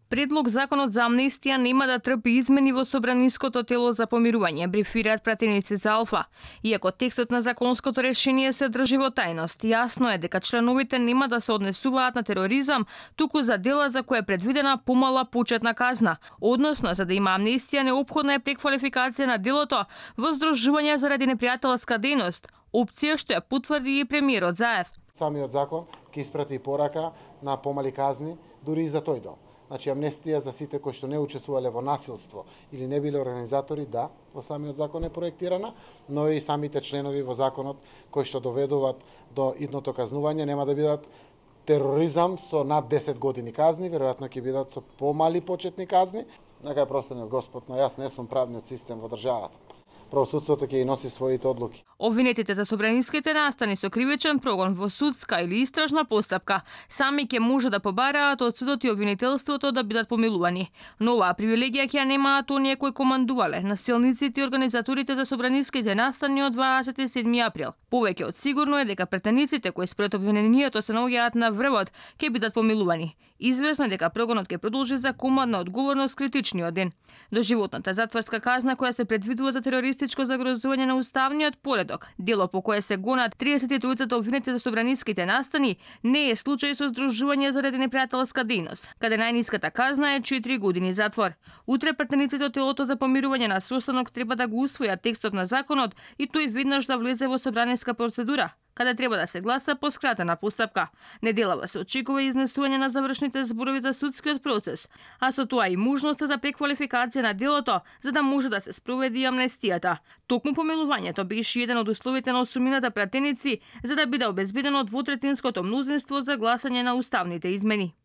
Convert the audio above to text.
Предлог законот за амнестија нема да трпи измени во собраниското тело за помирување, брифираат пратеници за Алфа. Иако текстот на законското решение се држи во тајност, јасно е дека членовите нема да се однесуваат на тероризам, туку за дела за кои е предвидена помала почетна казна. Односно, за да има амнестија, неопходна е преквалификација на делото во здружување заради непријателска дејност, опција што ја потврди и премиерот Заев. Самиот закон ќе испрати порака на помали казни дури и за тој дел. Значи, амнестија за сите кои што не учествувале во насилство или не биле организатори, да, во самиот закон е проектирана, но и самите членови во законот кои што доведуваат до идното казнување нема да бидат тероризам со над 10 години казни, веројатно ќе бидат со помали почетни казни. Нека е просторниот Господ, но јас не сум правниот систем во државата. Правосудството ќе и носи своите одлуки. Обвинетите за собраниските настани со кривичен прогон во судска или истражна постапка сами ќе може да побараат од судот и обвинителството да бидат помилувани. Но оваа привилегија ќе ја немаат оние кои командувале, насилниците и организаторите за собраниските настани од 27 април. Повеќе од сигурно е дека претениците кои според обвинението се наоѓаат на врвот ќе бидат помилувани. Известно е дека прогонот ќе продолжи за командна одговорност критичниот ден. Доживотната затворска казна која се предвидува за терористичко загрозување на уставниот поредок, дело по кое се гонат 33 обвинети за собраниските настани, не е случај со здружување заради непријателска дејност, каде најниската казна е 4 години затвор. Утре претениците од телото за помирување на состанок треба да го усвојат текстот на законот и тој веднаш да влезе во собраниска процедура, каде треба да се гласа по скратена постапка. Неделава се очекува изнесување на завршните зборови за судскиот процес, а со тоа и можноста за преквалификација на делото, за да може да се спроведи и амнестијата. Токму помилувањето беше еден од условите на осумината пратеници за да биде обезбедено двотретинското мнозинство за гласање на уставните измени.